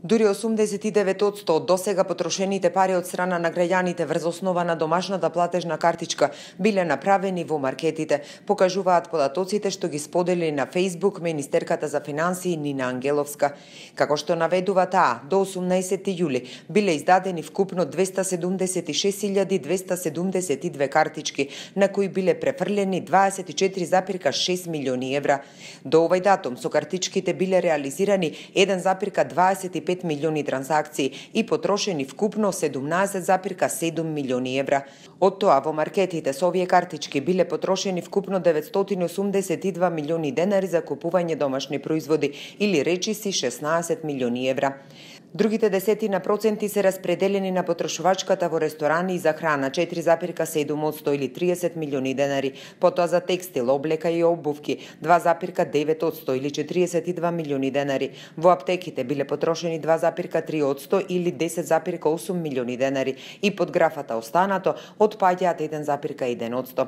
Дури 89% од досега потрошените пари од страна на граѓаните врз основа на домашната платежна картичка биле направени во маркетите, покажуваат податоците што ги сподели на Facebook министерката за финансии Нина Ангеловска. Како што наведува таа, до 18 јули биле издадени вкупно 276.272 картички, на кои биле префрлени 24,6 милиони евра. До овој датум со картичките биле реализирани 1,25 милиони транзакции и потрошени вкупно 17,7 милиони евра. Од тоа во маркетите со овие картички биле потрошени вкупно 982 милиони денари за купување домашни производи или речиси 16 милиони евра. Другите 10% се распределени на потрошувачката во ресторани и за храна 4,7% или 30 милиони денари, потоа за текстил, облека и обувки 2,9% или 42 милиони денари. Во аптеките биле потрошени 2,3% или 10,8 милиони денари и под графата останато отпаѓаат 1,1%.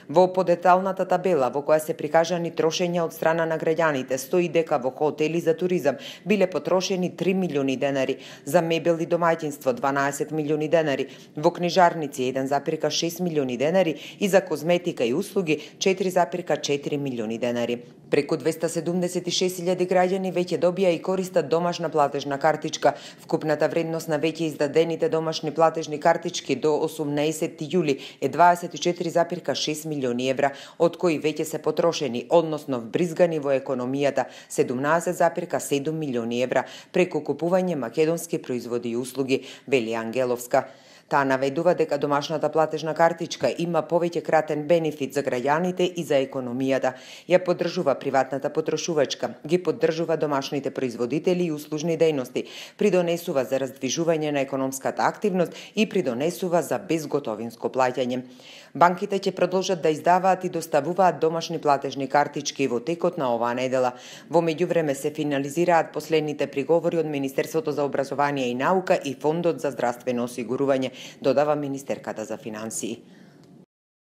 Во подеталната табела во која се прикажани трошења од страна на граѓаните стои дека во хотели за туризам биле потрошени 3 милиони денари, за мебел и домаќинство 12 милиони денари, во книжарници 1,6 милиони денари и за козметика и услуги 4,4 милиони денари. Преку 276.000 граѓани веќе добија и користат домашна платежна картичка. Вкупната вредност на веќе издадените домашни платежни картички до 18 јули е 24,6 милиони евра, од кои веќе се потрошени, односно вбризгани во економијата 17,7 милиони евра преку купување македонски производи и услуги, вели Ангеловска. Таа наведува дека домашната платежна картичка има повеќе кратен бенефит за граѓаните и за економијата. Ја поддржува приватната потрошувачка, ги поддржува домашните производители и услужни дејности, придонесува за раздвижување на економската активност и придонесува за безготовинско плаќање. Банките ќе продолжат да издаваат и доставуваат домашни платежни картички во текот на оваа недела. Во меѓувреме се финализираат последните приговори од Министерството за образование и наука и Фондот за здравствено осигурување, додава министерката за финансии.